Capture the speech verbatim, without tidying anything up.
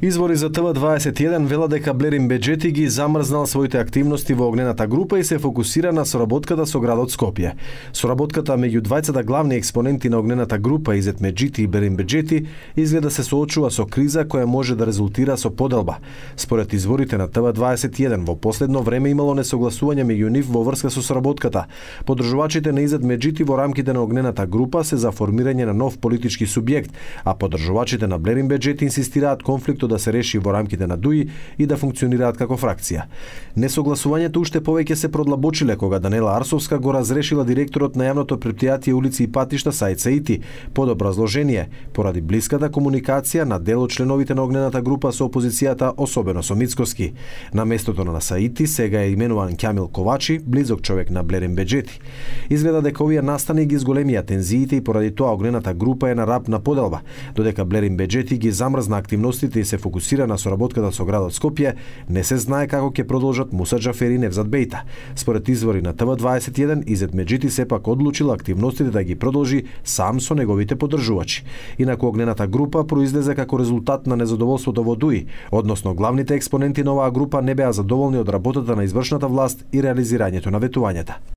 Извори за Т В дваесет и еден велат дека Блерин Беџети ги замрзнал своите активности во огнената група и се фокусира на соработката со градот Скопје. Соработката меѓу двајцата главни експоненти на огнената група Изет Меджити и Блерин Беџети изгледа се соочува со криза која може да резултира со поделба. Според изворите на Т В дваесет и еден, во последно време имало несогласување меѓу нив во врска со соработката. Поддржувачите на Изет Меджити во рамките на огнената група се за формирање на нов политички субјект, а поддржувачите на Блерин Беџети инсистираат конфликтот да се реши во рамките на ДУИ и да функционираат како фракција. Несогласувањето уште повеќе се продлабочиле кога Данела Арсовска го разрешила директорот на јавното претпријатие Улици и патишта Саид Саити под образложение поради блиската комуникација на дел од членовите на огнената група со опозицијата, особено со Мицкоски. На местото на Саити сега е именуван Ќамил Ковачи, близок човек на Блерин Беџети. Изгледа дека овие настани ги зголемија тензиите и поради тоа огнената група е на рап на поделба, додека Блерин Беџети ги замрзна активностите и се фокусира на соработката со градот Скопје, не се знае како ќе продолжат Муса Џафери и Невзат Бејта. Според извори на Т В дваесет и еден, Изет Меджити сепак одлучила активностите да ги продолжи сам со неговите поддржувачи. Инаку огнената група произлезе како резултат на незадоволството во ДУИ, односно главните експоненти на оваа група не беа задоволни од работата на извршната власт и реализирањето на ветувањата.